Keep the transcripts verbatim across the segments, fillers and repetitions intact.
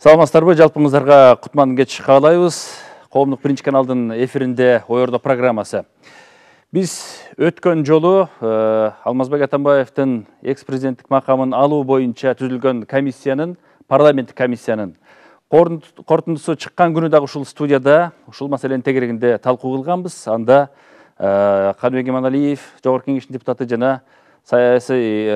Саламатсыздарбы, жалпыңыздарга кутман кеч каалайбыз. Коомдук биринчи каналдын эфиринде Ойордо программасы. Биз өткөн жолу Алмазбек Атамбаевдин экс-президенттик макамын алуу боюнча түзүлгөн комиссиянын, парламенттик комиссиянын корутундусу чыккан күнү дагы ушул студияда ушул маселенин тегерегинде талкуу кылганбыз. Анда Каныбек Иманалиев, Жогорку Кеңештин депутаты жана саясий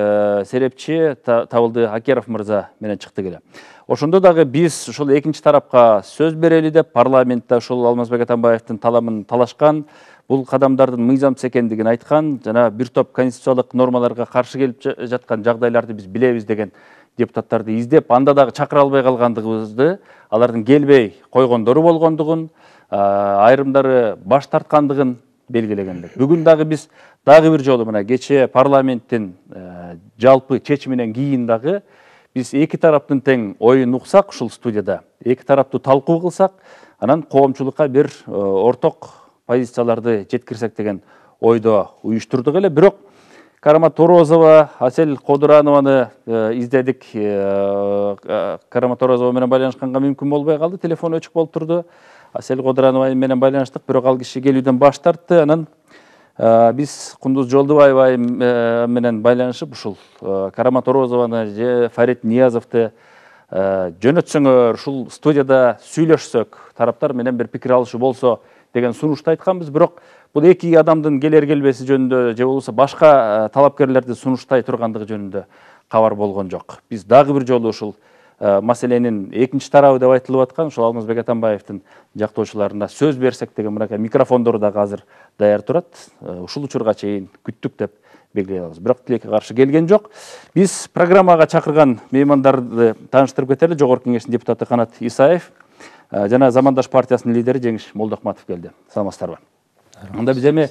серепчи Табылды Акеров мырза менен чыкты келе. Ошондо дагы биз ушул экинчи тарапка сөз берели деп парламентте ушул Алмазбек Атамбаевдин таламын талашкан, бул кадамдардын мыйзамсыз экендигин айткан, жана бир топ конституциялык нормаларга каршы келип жаткан жагдайларды биз билебиз деген депутаттарды издеп, анда дагы чакыра албай калгандыгыбызды, алардын келбей койгондору болгондугун, айрымдары баш тарткандыгын белгилегендик. Бүгүн дагы биз дагы бир жолу мына кечээ парламенттин жалпы чечиминен кийин дагы биз эки тараптын тең оюн уксак ушул студияда, эки тараптуу талкуу кылсак, анан коомчулукка бир орток позицияларды жеткирсек деген ойдо уюштурдук эле. Бирок Карама Торозова, Асель Кодуранованы издедик. Карама Торозова менен байланышканга мүмкүн болбой калды, телефон өчүк болуп турду. Асель Кодуранова менен байланыштык, бирок ал киши келүүдөн баш тартты. Анан биз Кундуз Жолдубаева менен байланышып ушул Карама Торозованы же Фарид Ниязовду жөнөтсөңөр, ушул студияда сүйлөшсөк, тараптар менен бир пикир алышуу болсо деген сунушту айтканбыз. Бирок бул эки адамдын келер келбеси жөнүндө же болбосо башка талапкерлерди сунуштай тургандыгы жөнүндө кабар болгон жок. Биз дагы бир жолу ушул маселенин экинчи тарабы деп айтылып аткан ушул Алмазбек Атамбаевдин жактоочуларына сөз берсек деген мынакей микрофондору дагы азыр даяр турат. Ушул учурга чейин күттүк деп белгилей алабыз. Бирок тилекке каршы келген жок. Биз программага чакырган меймандарды тааныштырып кетели. Жогорку Кеңештин депутаты Канат Исаев жана Замандаш партиясынын лидери Жеңиш Молдохматов келди. Саламатсыздарбы? Анда биз эми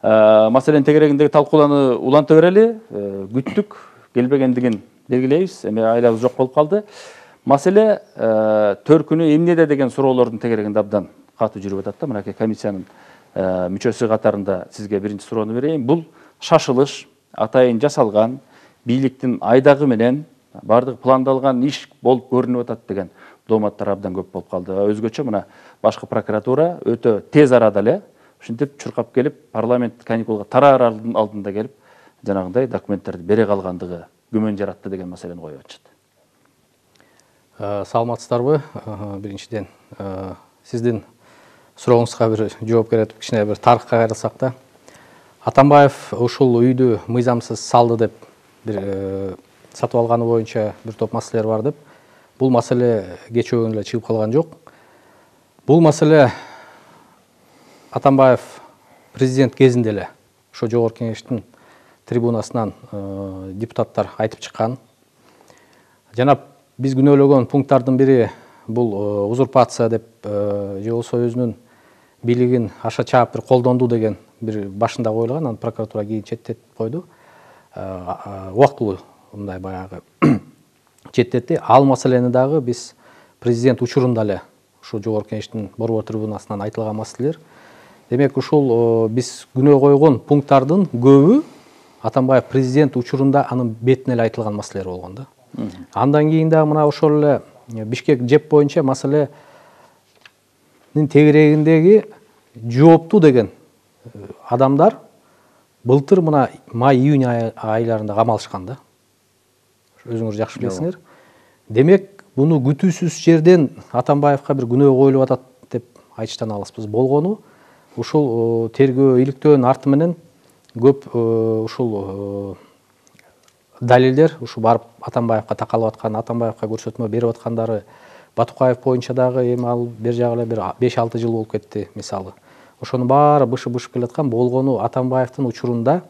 маселенин тегерегиндеги талкуулоону уланта берели. Күттүк, келбегендигин белгилейбиз. Эми айлабыз жок болуп калды. Маселе төркүнү эмнеде деген суроолордун тегерегинде абдан катуу жүрүп атат да. Мынакей комиссиянын мүчөсү катарында сизге биринчи суроону берейин. Бул шашылыш атайын жасалган, бийликтин айдагы менен бардык пландалган иш болуп көрүнүп атат деген дооматтар абдан көп болуп калды. Өзгөчө мына башкы прокуратура өтө тез арада эле ушинтип чуркап келип, парламент каникулга тараар алдында келип, жанагындай документтерди бере калгандыгы күмөн жаратты деген маселени коюп атышат. Саламатсыздарбы? Биринчиден сиздин сурооңузга бир жооп берип, кичине бир тарыхка кайрылсак да. Атамбаев ушул үйдү мыйзамсыз салды деп бир сатып алганы боюнча бир топ маселелер бар деп. Бул маселе кечээ күнү эле чыгып калган жок. Бул маселе Атамбаев президент кезинде эле ошо Жогорку Кеңештин трибунасынан депутаттар айтып чыккан. Жана биз күнөөлөгөн пункттардын бири бул узурпация деп же болсо өзүнүн бийлигин аша чаап бир колдонду деген бир башында коюлган, анан прокуратура кийин четтетип койду. Убактылуу мындай баягы четтетти. Ал маселени дагы биз президент учурунда эле ушул Жогорку Кеңештин борбор трибунасынан айтылган маселелер. Демек ушул биз күнөө койгон пункттардын көбү Атамбаев президент учурунда анын бетине эле айтылган маселелер болгон да. Андан кийин дагы мына ошол эле Бишкек жеп боюнча маселенин тегерегиндеги жооптуу деген адамдар былтыр мына май-июнь айларында камалышкан да. Өзүңүз жакшы билесиңер. Демек, буну күтүүсүз жерден Атамбаевка бир күнөө коюлуп атат деп айтыштан алыспыз. Болгону ушул тергөө иликтөөнүн арты менен көп ушул далилдер, ушу барып Атамбаевка такалып аткан, Атамбаевка көрсөтмө берип аткандары Батукаев боюнча дагы эми ал бер жагы эле бир беш алты жыл болуп кетти мисалы. Ошонун баары бышы-бышып келаткан. Болгону Атамбаевдин учурунда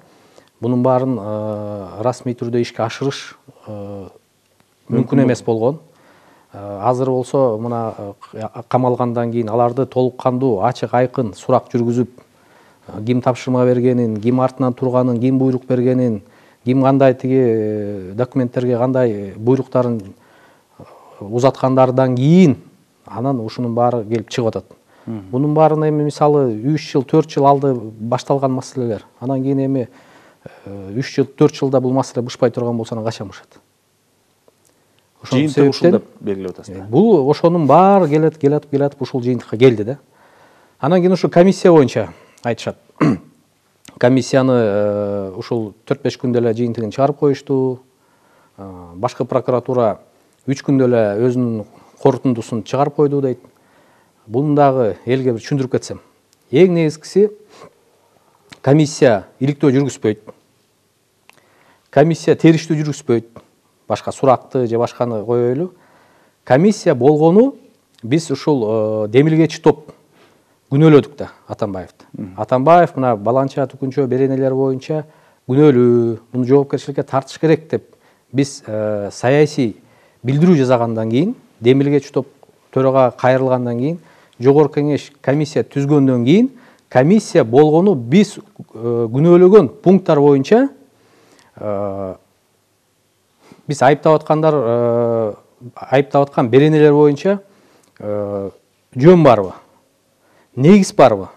бунун баарын расмий түрдө ишке ашырыш мүмкүн эмес болгон. Азыр болсо мына камалгандан кийин аларды толук кандуу, ачык айкын сурак жүргүзүп, ким тапшырма бергенин, ким артынан турганын, ким буйрук бергенин, ким кандай тиги документтерге кандай буйруктарын узаткандардан кийин анан ушунун баары келип чыгып атат. Бунун баарын эми мисалы үч жыл, төрт жыл алды башталган маселелер. Анан кийин эми үч жыл, төрт жылда бул маселе бышпай турган болсо анан качан бышат? Жыйынтык ушул деп белгилеп атасыз. Бул ошонун баары келет, келатып, келатып ушул жыйынтыкка келди да. Анан кийин ушу комиссия боюнча айтышат. Комиссияны ушул төрт беш күндө эле жыйынтыгын чыгарып коюшту. Башкы прокуратура үч күндө эле өзүнүн корутундусун чыгарып койду дейт. Буну дагы элге бир түшүндүрүп кетсем. Эң негизгиси комиссия иликтөө жүргүзбөйт. Комиссия териштүү жүргүзбөйт. Башка суракты же башканы коелу. Комиссия болгону биз ушул демилгечи топ күнөөлөдүк да Атамбаевди. Атамбаев мына баланча түкүнчө беренелер боюнча күнөөлүү, муну жоопкерчиликке тартыш керек деп биз саясий билдирүү жасагандан кийин, демилгечи топ төрага кайрылгандан кийин, жогорку кеңеш комиссия түзгөндөн кийин, комиссия болгону биз күнөөлөгөн пункттар боюнча биз айыптап аткандар айыптап аткан беренелер боюнча жөн барбы, негиз барбы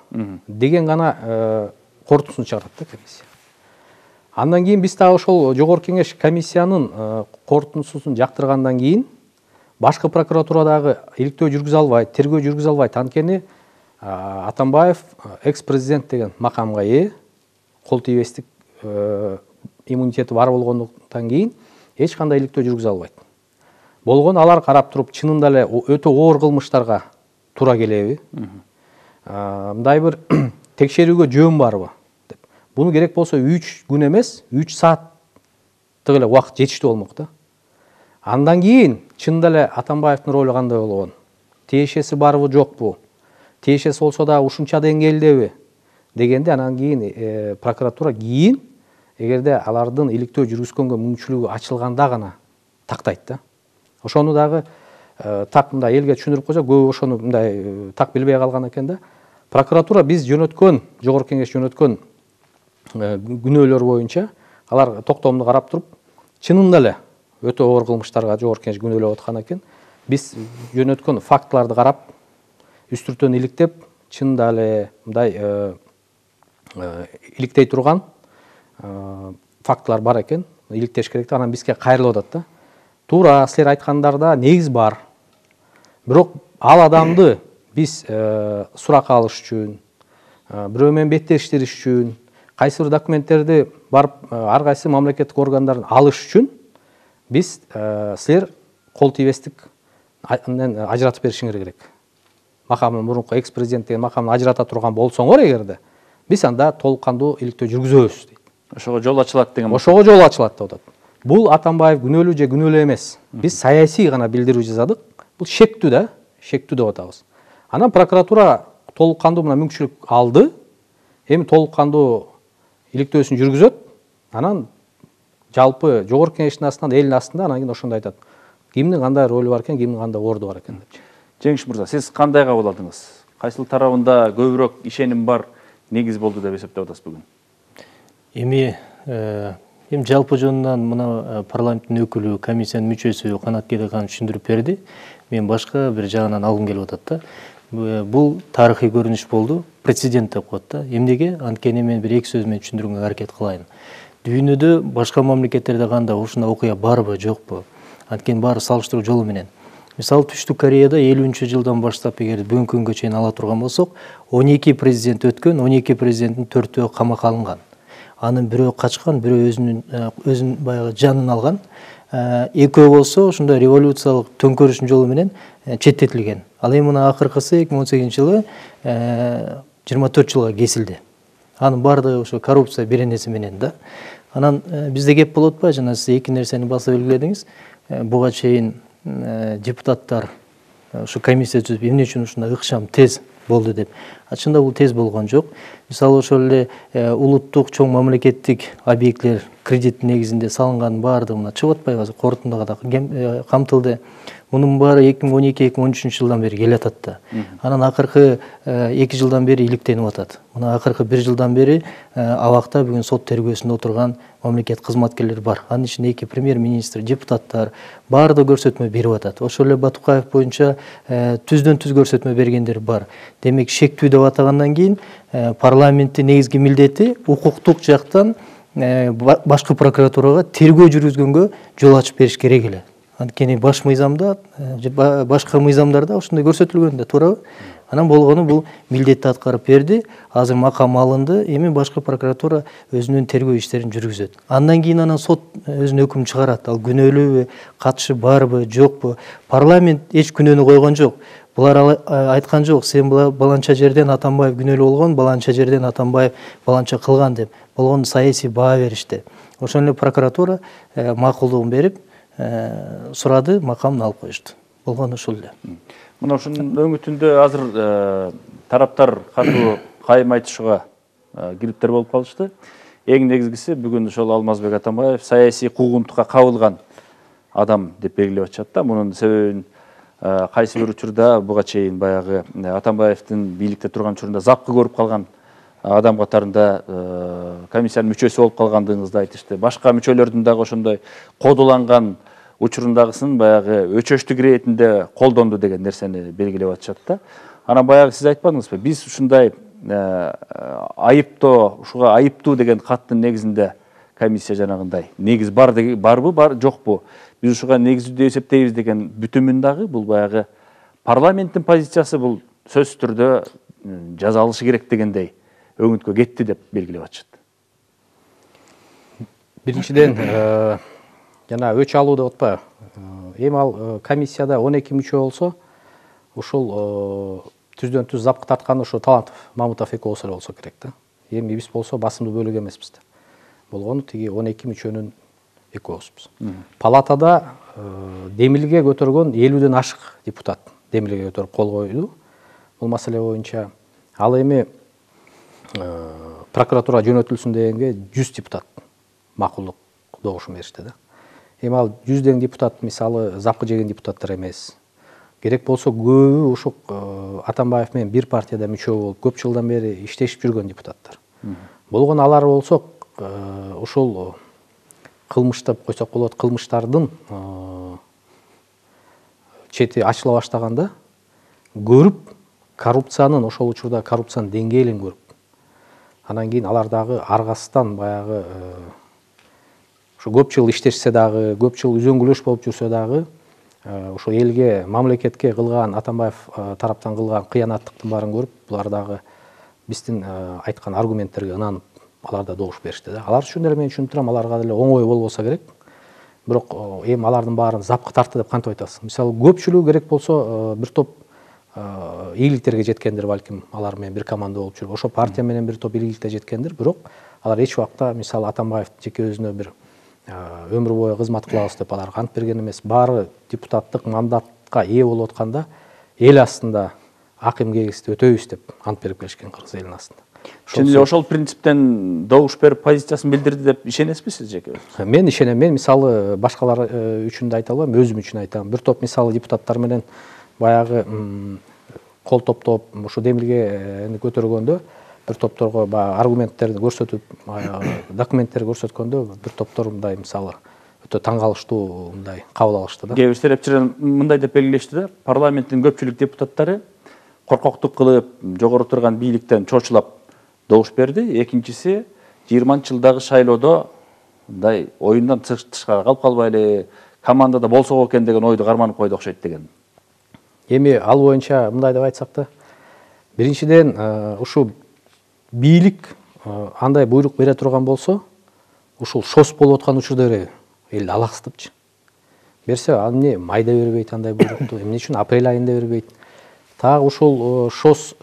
деген гана корутундусун чыгарат да комиссия. Андан кийин биз дагы ошол жогорку кеңеш комиссиянын корутундусун жактыргандан кийин башкы прокуратурадагы иликтөө жүргүзө албайт, тергөө жүргүзө албайт. Анткени Атамбаев экс-президент деген макамга ээ, кол тийбестик иммунитети бар болгондуктан кийин эч кандай иликтөө жүргүзө албайт. Болгон алар карап туруп чынында эле өтө оор кылмыштарга туура келеби? Мындай бир текшерүүгө жөн барбы деп. Буну керек болсо үч күн эмес, үч сааттык эле убакыт жетиштүү болмок да. Андан кийин чынында эле Атамбаевдин ролу кандай болгон? Тиешеси барбы, жокпу? Тиешеси болсо да ушунча деңгээлдеби дегенде анан кийин прокуратура кийин эгерде алардын иликтөө жүргүзгөнгө мүмкүнчүлүгү ачылганда гана тактайт да. Ошону дагы так мындай элге түшүндүрүп койсок, көбү ошону мындай так билбей калган экен да. Прокуратура биз жөнөткөн, жогорку кеңеш жөнөткөн күнөөлөр боюнча алар токтомду карап туруп, чынында эле өтө оор кылмыштарга жогорку кеңеш күнөөлөп аткан экен. Биз жөнөткөн фактыларды карап, үстүртөн иликтеп, чынында эле мындай иликтей турган фактылар бар экен, иликтеш керек да, анан бизге кайрылып атат да. Туура, силер айткандарда негиз бар. Бирок ал адамды биз суракка алыш үчүн, бирөө менен беттештириш үчүн, кайсы бир документтерди барып ар кайсы мамлекеттик органдарын алыш үчүн биз силер кол тийбестик ажыратып беришиңер керек. Макамын мурунку экс-президент деген макамын ажырата турган болсоңор эгерде, биз анда толук кандуу иликтөө жүргүзөбүз дейт. Ошого жол ачылат деген. Ошого жол ачылат деп атат. Бул Атамбаев күнөөлүү же күнөөлүү эмес. Биз саясий гана билдирүү жасадык. Бул шектүү да, шектүү деп атабыз. Анан прокуратура толук кандуу мына мүмкүнчүлүк алды. Эми толук кандуу иликтөөсүн жүргүзөт. Анан жалпы жогорку кеңештин астынан, элдин астында анан кийин ошондой айтат. Кимдин кандай ролу бар экен, кимдин кандай орду бар экен деп. Жеңиш мырза, сиз кандай кабыл алдыңыз? Кайсыл тарабында көбүрөөк ишеним бар, негиз болду деп эсептеп атасыз бүгүн? Эми эми жалпы жөнүнөн мына парламенттин өкүлү, комиссиянын мүчөсү Канат Кедекан түшүндүрүп берди. Мен башка бир жагынан алгым келип атат да. Бул тарыхый көрүнүш болду, прецедент деп коет да. Эмнеге? Анткени мен бир эки сөз менен түшүндүрүүгө аракет кылайын. Дүйнөдө башка мамлекеттерде кандай ушундай окуя барбы, жокпу? Анткени баары салыштыруу жолу менен. Мисалы Түштүк Кореяда элүүнчү жылдан баштап эгер бүгүнкү күнгө чейин ала турган болсок, он эки президент өткөн, он эки президенттин төртөө камакка алынган. Анын бирөө качкан, бирөө өзүнүн өзүн баягы жанын алган. Экөө болсо ошондой революциялык төңкөрүштүн жолу менен четтетилген. Ал эми мына акыркысы эки миң он сегизинчи жылы жыйырма төрт жылга кесилди. Анын баардыгы ошо коррупция беренеси менен да. Анан бизде кеп болот атпайбы? Жана сиз эки нерсени баса белгиледиңиз. Буга чейин депутаттар ушу комиссия түзүп, эмне үчүн ушундай ыкчам тез болду деп. Чында бул тез болгон жок. Мисалы ошол эле улуттук чоң мамлекеттик объектлер кредит негизинде салынган баардыгы мына чыгып атпайбы? Корутундага да камтылды. Мунун баары эки миң он эки эки миң он үчүнчү жылдан бери келе атат да. Анан акыркы эки жылдан бери иликтенип атат. Мына акыркы бир жылдан бери абакта бүгүн сот тергөөсүндө отурган мамлекет кызматкерлери бар. Анын ичинде эки премьер-министр, депутаттар баардыгы көрсөтмө берип атат. Ошол эле Батукаев боюнча түздөн түз көрсөтмө бергендер бар. Демек шектүү деп атагандан кийин парламенттин негизги милдети укуктук жактан башкы прокуратурага тергөө жүргүзгөнгө жол ачып бериш керек эле. Анткени баш мыйзамда, башка мыйзамдарда ушундай көрсөтүлгөн да, туурабы? Анан болгону бул милдетти аткарып берди. Азыр макам алынды. Эми башкы прокуратура өзүнүн тергөө иштерин жүргүзөт. Андан кийин анан сот өзүнүн өкүмүн чыгарат. Ал күнөөлүүбү, катышы барбы, жокпу? Парламент эч күнөөнү койгон жок. Булар айткан жок, сен баланча жерден Атамбаев күнөөлүү болгон, баланча жерден Атамбаев баланча кылган деп. Болгону саясий баа беришти. Ошон эле прокуратура макулдугун берип, сурады, макамын алып коюшту. Болгону ушул эле. Мына ушунун өңүтүндө азыр тараптар катуу кайым айтышууга кириптер болуп калышты. Эң негизгиси бүгүн ошол Алмазбек Атамбаев саясий куугунтукка кабылган адам деп белгилеп атышат да. Мунун себебин кайсы бир учурда буга чейин баягы Атамбаевдин бийликте турган учурунда запкы көрүп калган адам катарында комиссиянын мүчөсү болуп калгандыгыңызды айтышты. Башка мүчөлөрдүн дагы ошондой кодуланган учурундагысын баягы өчөштүк иретинде колдонду деген нерсени белгилеп атышат да. Анан баягы сиз айтпадыңызбы? Биз ушундай айыптоо, ушуга айыптуу деген каттын негизинде комиссия жанагындай негиз бар барбы, бар жокпу? Биз ушуга негиздүү эсептейбиз деген бүтүмүн дагы бул баягы парламенттин позициясы бул сөзсүз түрдө жазалышы керек дегендей өңүткө кетти деп белгилеп атышат. Биринчиден, жана өч алуу деп атпайбы? Эми ал комиссияда он эки мүчө болсо, ушул түздөн түз запкы тарткан ошо Талантов, Мамутов экөөсү эле болсо керек да. Эми биз болсо басымдуу бөлүк эмеспиз да. Болгону тиги он эки мүчөнүн экөөсүбүз. Палатада демилге көтөргөн элүүдөн ашык депутат демилге көтөрүп кол койду бул маселе боюнча. Ал эми прокуратура жөнөтүлсүн дегенге жүз депутат макулдук добушун беришти да. Эми ал жүздөн депутат мисалы запкы жеген депутаттар эмес. Керек болсо көбү ушу Атамбаев менен бир партияда мүчө болуп көп жылдан бери иштешип жүргөн депутаттар. Болгону алар болсо ушул кылмыш деп койсок болот, кылмыштардын чети ачыла баштаганда көрүп, коррупциянын ошол учурда коррупциянын деңгээлин көрүп, анан кийин алар дагы аргасыздан баягы ушу көп жыл иштешсе дагы, көп жыл үзөңгүлөш болуп жүрсө дагы, ошо элге, мамлекетке кылган Атамбаев тараптан кылган кыянаттыктын баарын көрүп, булар дагы биздин айткан аргументтерге ынанып, алар да добуш беришти да. Алар үчүн деле мен түшүнүп турам, аларга деле оңой болбосо керек. Бирок эми алардын баарын запкы тартты деп кантип айтасыз? Мисалы көпчүлүгү керек болсо бир топ ийгиликтерге жеткендир, балким алар менен бир команда болуп жүрүп, ошо партия менен бир топ ийгиликке жеткендир, бирок алар эч убакта мисалы Атамбаев жеке өзүнө бир өмүр бою кызмат кылабыз деп алар ант берген эмес. Баары депутаттык мандатка ээ болуп атканда эл астында акым кегисти өтөйбүз деп ант берип келишкен кыргыз элинин астында. Чын эле ошол принциптен добуш берип позициясын билдирди деп ишенесизби сиз жеке? Мен ишенем. Мен мисалы башкалар үчүн да айта албайм, өзүм үчүн айтам. Бир топ мисалы депутаттар менен баягы кол топтоп ушу демилгени көтөргөндө бир топторго баягы аргументтерди көрсөтүп, документтерди көрсөткөндө бир топтор мындай мисалы өтө таң калыштуу мындай кабыл алышты да. Кээ бир серепчилер мындай деп белгилешти да, парламенттин көпчүлүк депутаттары коркоктук кылып, жогору турган бийликтен чочулап добуш берди. Экинчиси жыйырманчы жылдагы шайлоодо мындай оюндан тышкары калып калбайлы, командада болсок экен деген ойду карманып койду окшойт деген. Эми ал боюнча мындай деп айтсак да, биринчиден ушу бийлик андай буйрук бере турган болсо, ушул шос болуп аткан учурда береби? Эл алаксытыпчы. Берсе, ал эмне майда бербейт андай буйрукту, эмне үчүн апрель айында бербейт? Тагы ушул шос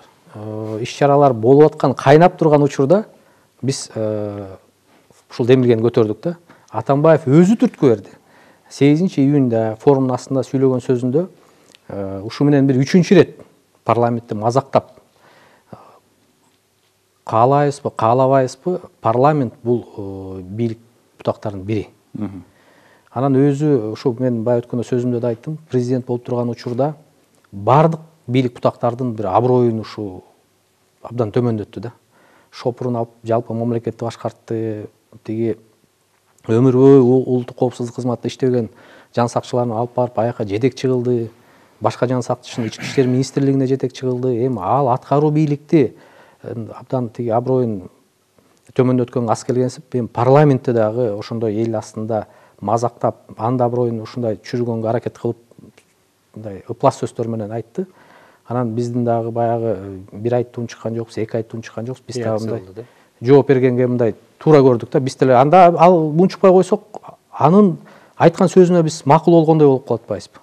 иш-чаралар болуп аткан, кайнап турган учурда биз ушул демилгени көтөрдүк да. Атамбаев өзү түрткү берди. сегизинчи июнда форумдун астында сүйлөгөн сөзүндө ушу менен бир үчүнчү ирет парламентти мазактап, каалайбызбы, каалабайбызбы, парламент бул бийлик бутактарынын бири. Анан өзү ушу мен бая өткөндө сөзүмдө да айттым, президент болуп турган учурда бардык бийлик бутактардын бир аброюн ушу абдан төмөндөттү да. Шопурун алып, жалпы мамлекетти башкартты, тиги өмүр бою улуттук коопсуздук кызматында иштеген жан сакчыларын алып барып аяка жетекчи кылды. Башка жан сакчысын ички иштер министрлигине жетекчи кылды. Эми ал аткаруу бийликти абдан тиги аброюн төмөндөткөнгө ас келгенсип, эми парламентте дагы ошондой эл астында мазактап анда бирөөнү ушундай чүргөнгө аракет кылып мындай ыплас сөздөр менен айтты. Анан биздин дагы баягы бир айттуун чыккан жокпуз, эки айттуун чыккан жокпуз. Биз дагы мындай жооп бергенге мындай туура көрдүк да. Биз деле анда ал мунчукпай койсок, анын айткан сөзүнө биз макул болгондой болуп калат атпайбызбы.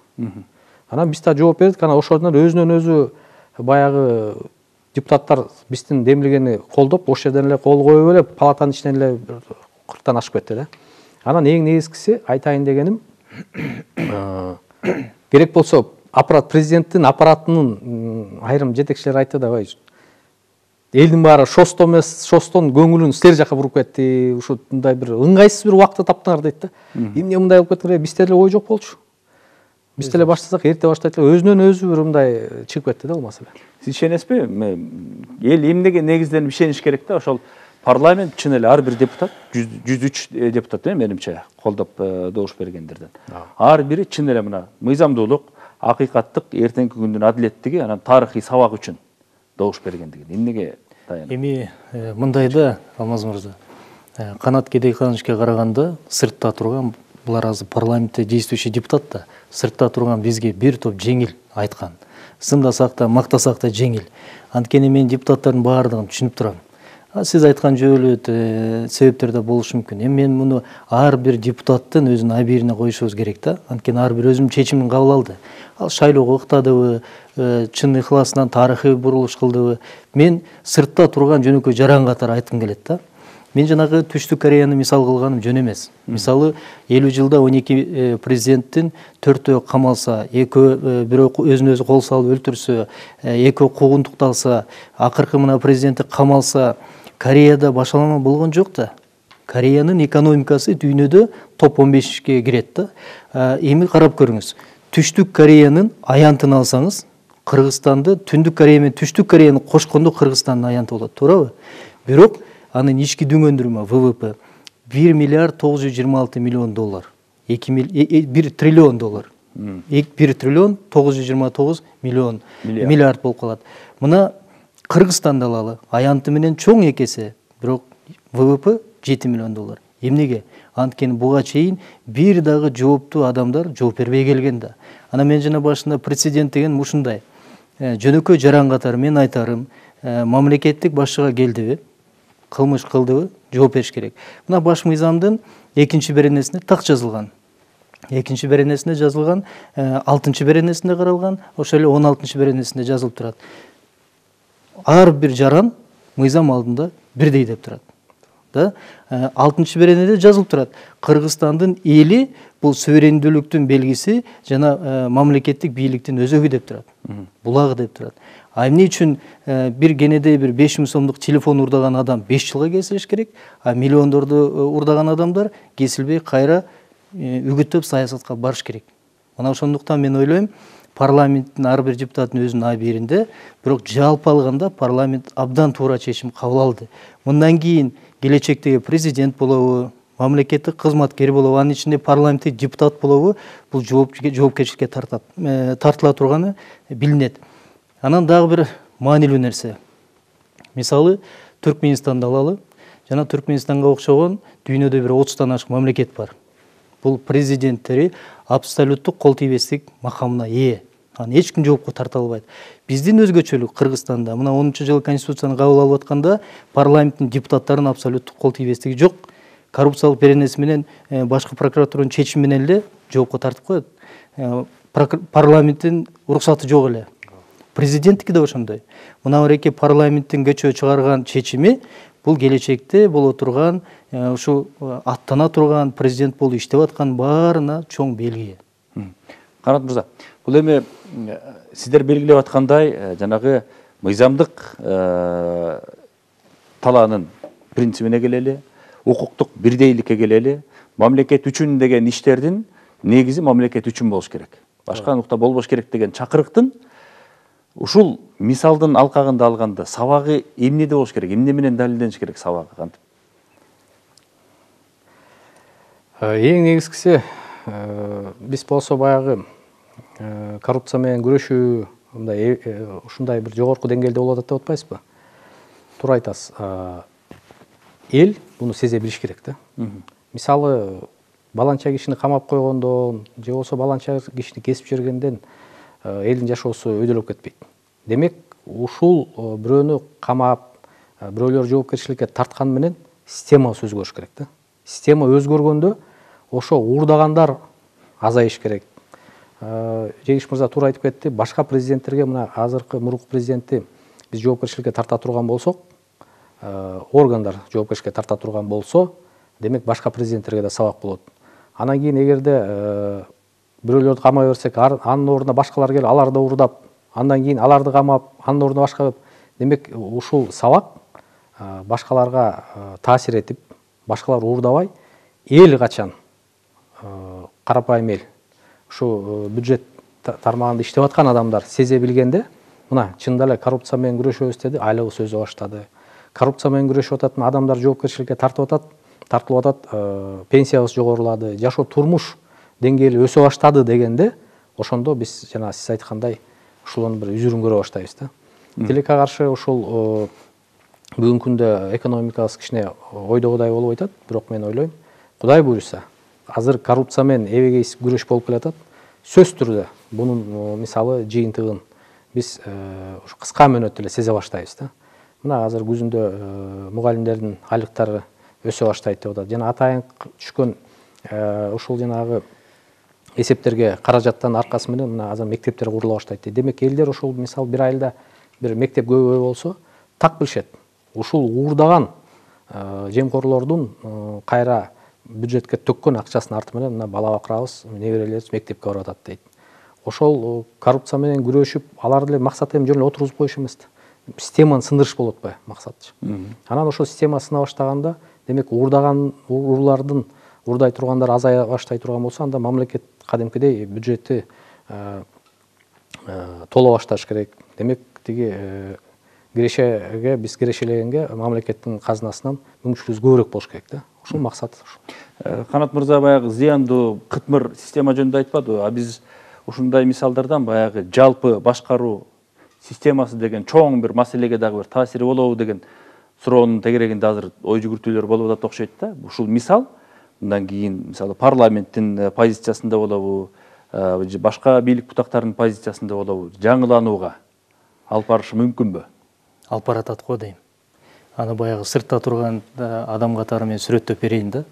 Анан биз да жооп бердик. Анан ошондон өзүнөн өзү баягы депутаттар биздин демилгени колдоп, ошол жерден эле кол коюп эле палатанын ичинен эле кырктан ашып кетти да. Анан эң негизгиси айтайын дегеним, керек болсо аппарат, президенттин аппаратынын айрым жетекчилери айтты да, элдин баары шостон эмес, шостон көңүлүн силер жака буруп кетти, ушундай бир ыңгайсыз бир убакытты таптыңар дейт да. Эмне мындай болуп кетти, бизде эле ой жок болчу. Биз деле баштасак, эрте баштайт эле, өзүнөн өзү бир мындай чыгып кетти да ал маселе. Сиз ишенесизби? Эл эмнеге негизденип ишениш керек да? Ошол парламент чын эле ар бир депутат, жүз үч депутат менимче колдоп добуш бергендерден. Ар бири чын эле мына мыйзамдуулук, акыйкаттык, эртеңки күндүн адилеттиги, анан тарыхый сабак үчүн добуш бергендиги. Эмнеге таянат? Эми мындай да, Алмаз мырза, Канат Кедейкановичке караганда сыртта турган, булар азыр парламентте действующий депутат да, сыртта турган бизге бир топ жеңил айткан. Сындасак да, мактасак да жеңил. Анткени мен депутаттардын баардыгын түшүнүп турам. Сиз айткан жөө эле себептер да болушу мүмкүн. Эми мен муну ар бир депутаттын өзүнүн абийирине коюшубуз керек да. Анткени ар бир өзүнүн чечимин кабыл алды. Ал шайлоого ыктадыбы, чын ыхласынан тарыхый бурулуш кылдыбы? Мен сыртта турган жөнөкөй жаран катары айткым келет да. Мен жанагы Түштүк Кореяны мисал кылганым жөн эмес. Мисалы, элүү жылда он эки президенттин төртөө камалса, экөө бирөө өзүн өзү кол салып өлтүрсө, экөө куугунтукталса, акыркы мына президенти камалса, Кореяда башалма болгон жок да. Кореянын экономикасы дүйнөдө топ он бешке кирет да. Эми карап көрүңүз. Түштүк Кореянын аянтын алсаңыз, Кыргызстанды Түндүк Корея менен Түштүк Кореяны кошкондо Кыргызстандын аянты болот, туурабы? Бирок анын ички дүңөндүрмө вэ вэ пэ бир миллиард тогуз жүз жыйырма алты миллион доллар. бир триллион доллар. бир триллион тогуз жүз жыйырма тогуз миллион миллиард болуп калат. Мына Кыргызстанды алалы, аянты менен чоң экесе, бирок вэ вэ пэ жети миллион доллар. Эмнеге? Анткени буга чейин бир дагы жооптуу адамдар жооп бербей келген да. Анан мен жана башында президент деген ушундай жөнөкөй жаран катары мен айтарым, мамлекеттик башчыга келдиби, кылмыш кылдыбы, жооп бериш керек. Мына баш мыйзамдын экинчи беренесинде так жазылган. Экинчи беренесинде жазылган, алтынчы беренесинде каралган, ошол эле он алтынчы беренесинде жазылып турат. Ар бир жаран мыйзам алдында бирдей деп турат. Да? алтынчы беренеде жазылып турат. Кыргызстандын эли бул суверендүүлүктүн белгиси жана мамлекеттик бийликтин өзөгү деп турат. Булагы деп турат. А эмне үчүн бир кенеде бир беш миң сомдук телефон урдаган адам беш жылга кесилиш керек, а миллиондорду урдаган адамдар кесилбей кайра үгүттөп саясатка барыш керек. Мына ошондуктан мен ойлойм, парламенттин ар бир депутаттын өзүнүн абийиринде, бирок жалпы алганда парламент абдан туура чечим кабыл алды. Мындан кийин келечектеги президент болобу, мамлекеттик кызматкер болобу, анын ичинде парламенттик депутат болобу, бул жоопкерчиликке тартат, тартыла турганы билинет. Анан дагы бир маанилүү нерсе. Мисалы, Түркменистанды алалы. Жана Түркменистанга окшогон дүйнөдө бир отуздан ашык мамлекет бар. Бул президенттери абсолюттук кол тийбестик макамына ээ. Аны эч ким жоопко тарта албайт. Биздин өзгөчөлүк Кыргызстанда мына онунчу жылы конституцияны кабыл алып атканда парламенттин депутаттарынын абсолюттук кол тийбестиги жок. Коррупциялык беренеси менен башкы прокуратуранын чечими менен эле жоопко тартып коет. Парламенттин уруксаты жок эле. Президенттики да ошондой. Мына мынакей парламенттин көчө чыгарган чечими бул келечекте боло турган, ушу аттана турган президент болуп иштеп аткан баарына чоң белги. Канат мырза, бул эми сиздер белгилеп аткандай, жанагы мыйзамдык талаанын принцибине келели, укуктук бирдейликке келели, мамлекет үчүн деген иштердин негизи мамлекет үчүн болуш керек. Башка нукта болбош керек деген чакырыктын ушул мисалдын алкагында алганда сабагы эмнеде болуш керек, эмне менен далилдениш керек сабагы кантип? Эң негизгиси биз болсо баягы коррупция менен күрөшүү мындай ушундай бир жогорку деңгээлде болуп атат деп атпайсызбы? Туура айтасыз. Эл буну сезе билиш керек да. Мисалы, баланча кишини камап койгондон же болбосо баланча кишини кесип жибергенден элдин жашоосу өйдөлөп кетпейт. Демек ушул бирөөнү камап бирөөлөр жоопкерчиликке тарткан менен системабыз өзгөрүш керек да. Система өзгөргөндө ошо уурдагандар азайыш керек. Жеңиш мырза туура айтып кетти. Башка президенттерге, мына азыркы мурунку президентти биз жоопкерчиликке тарта турган болсок, органдар жоопкерчиликке тарта турган болсо, демек башка президенттерге да сабак болот. Анан кийин эгерде бирөөлөрдү камай берсек, анын ордуна башкалар келип, аларды уурдап, андан кийин аларды камап, анын ордуна башка, демек ушул сабак башкаларга таасир этип, башкалар уурдабай, эл качан карапайым эл ушу бюджет тармагында иштеп аткан адамдар сезе билгенде, мына чындап эле коррупция менен күрөшөбүз деди, айлыгы сөзү баштады. Коррупция менен күрөшүп атат адамдар жоопкерчиликке тартып атат, тартылып атат, пенсиябыз жогорулады, жашоо турмуш деңгээли өсө баштады дегенде, ошондо биз жана сиз айткандай ушулун бир үзүрүн көрө баштайбыз да. Тилекке каршы ушул бүгүнкү күндө экономикабыз кичине ойдогудай болуп атат, бирок мен ойлойм, Кудай буйруса, азыр коррупция менен эбегейсиз күрөш болуп келатат. Сөз түрдө бунун мисалы жыйынтыгын биз ушу кыска мөөнөттө эле сезе баштайбыз да. Мына азыр күзүндө мугалимдердин айлыктары өсө баштайт деп атат. Жана атайын түшкөн ушул жанагы эсептерге каражаттан аркасы менен мына азыр мектептер курула баштайт дейт. Демек элдер ушул мисалы бир айылда бир мектеп көбөй болсо, так билишет. Ушул уурдаган жемкорлордун кайра бюджетке төккөн акчасынын арты менен мына бала бакырабыз, неберелерибиз мектепке барып атат дейт. Ошол коррупция менен күрөшүп, аларды эле максат эми жөн эле отургузуп коюш эмес да. Системаны сындырыш болуп атпайбы максат? Анан ошол система сына баштаганда, демек уурдаган уруулардын уурдай тургандар азая баштай турган болсо, анда мамлекет кадимкидей бюджетти толо башташ керек. Демек тиги кирешеге, биз кирешелегенге мамлекеттин казынасынан мүмкүнчүлүгүбүз көбүрөөк болуш керек да. Ушул максат. Канат мырза баягы зыяндуу кытмыр система жөнүндө айтпадыбы? А биз ушундай мисалдардан баягы жалпы башкаруу системасы деген чоң бир маселеге дагы бир таасири болобу деген суроонун тегерегинде азыр ой жүгүртүүлөр болуп атат окшойт да. Ушул мисал мындан кийин мисалы парламенттин позициясында болобу, башка бийлик бутактарынын позициясында болобу, жаңыланууга алып барышы мүмкүнбү? Алып баратат го дейм. Аны баягы сыртта турган адам катары мен сүрөттөп берейин да.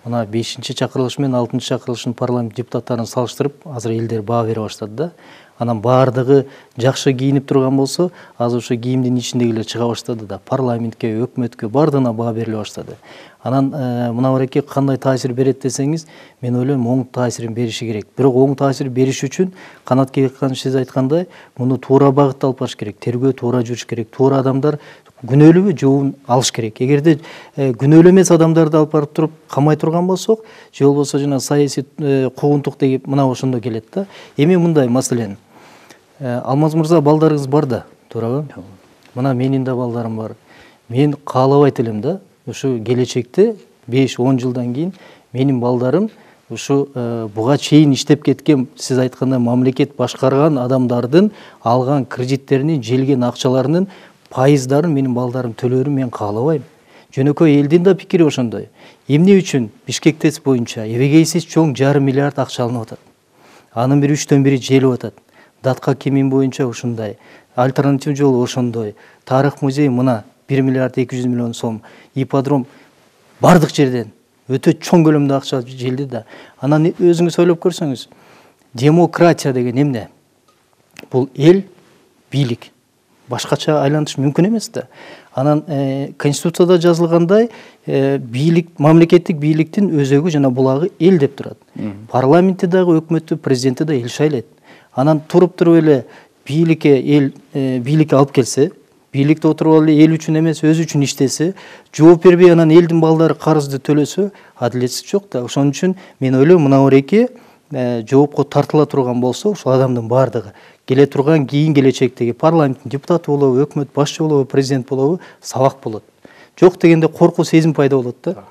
Мына бешинчи чакырылыш менен алтынчы чакырылыштын парламент депутаттарын салыштырып, азыр элдер баа бере баштады да. Анан баардыгы жакшы кийинип турган болсо, азыр ошо кийимдин ичиндегилер чыга баштады да. Парламентке, өкмөткө баардыгына баа бериле баштады. Анан мына бареке кандай таасир берет десеңиз, мен ойлойм оң таасирин бериши керек. Бирок оң таасир бериш үчүн Канат Келеккан сиз айткандай, муну туура багытта алып барыш керек. Тергөө туура жүрүш керек. Туура адамдар күнөөлүүбү жообун алыш керек. Эгерде күнөөлүү эмес адамдарды алып барып туруп камай турган болсок, же болбосо жана саясий куугунтук деп мына ошондо келет да. Эми мындай маселен, Алмаз мырза балдарыңыз бар да, туурабы? Мына менин да балдарым бар. Мен каалабайт элем да, ушу келечекте беш он жылдан кийин менин балдарым ушу буга чейин иштеп кеткен, сиз айткандай мамлекет башкарган адамдардын алган кредиттеринин, желген акчаларынын пайыздарын менин балдарым төлөөрүн мен каалабайм. Жөнөкөй элдин да пикири ошондой. Эмне үчүн Бишкек ТЭЦ боюнча эбегейсиз чоң жарым миллиард акча алынып атат. Анын бир үчтөн бири желип атат. Датка кемин боюнча ушундай, альтернатив жол ошондой. Тарых музей мына бир миллиард эки жүз миллион сом, ипподром бардык жерден өтө чоң көлөмдө акча желди да. Анан өзүңүз ойлоп көрсөңүз, демократия деген эмне? Бул эл, бийлик. Башкача айлантыш мүмкүн эмес да. Анан конституцияда жазылгандай, бийлик, мамлекеттик бийликтин өзөгү жана булагы эл деп турат. Парламентте дагы, өкмөттү, президентти да эл шайлайт. Анан туруп туруп эле бийликке эл бийликке алып келсе, бийликте отуруп эле эл үчүн эмес, өзү үчүн иштесе, жооп бербей анан элдин балдары карызды төлөсө, адилетсиз жок да. Ошон үчүн мен ойлойм, мына ореке жоопко тартыла турган болсо, ошол адамдын баардыгы келе турган кийин келечектеги парламенттин депутаты болобу, өкмөт башчы болобу, президент болобу, сабак болот. Жок дегенде коркуу сезим пайда болот да.